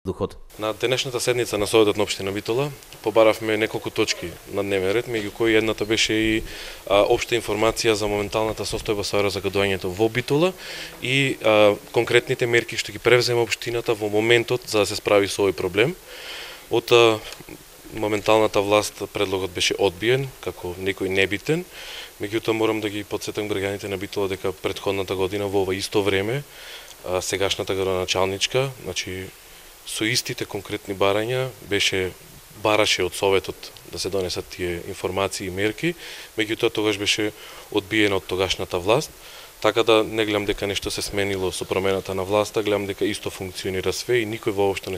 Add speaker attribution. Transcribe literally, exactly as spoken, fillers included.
Speaker 1: воздухот.
Speaker 2: На денешната седница на Советот на општина Битола побаравме неколку точки на дневен ред, меѓу кои едната беше и а, општа информација за моменталната состојба со аерозагадувањето во Битола и а, конкретните мерки што ги превзема општината во моментот за да се справи со овој проблем. Од а, моменталната власт предлогот беше одбиен како некој небитен, меѓутоа морам да ги потсетам граѓаните на Битола дека претходната година во ова исто време а, сегашната градоначалничка, значи со истите конкретни барања беше бараше од Советот да се донесат тие информации и мерки, меѓутоа тогаш беше одбиено од тогашната власт, така да не гледам дека нешто се сменило со промената на власта, гледам дека исто функционира све и никој воопшто не се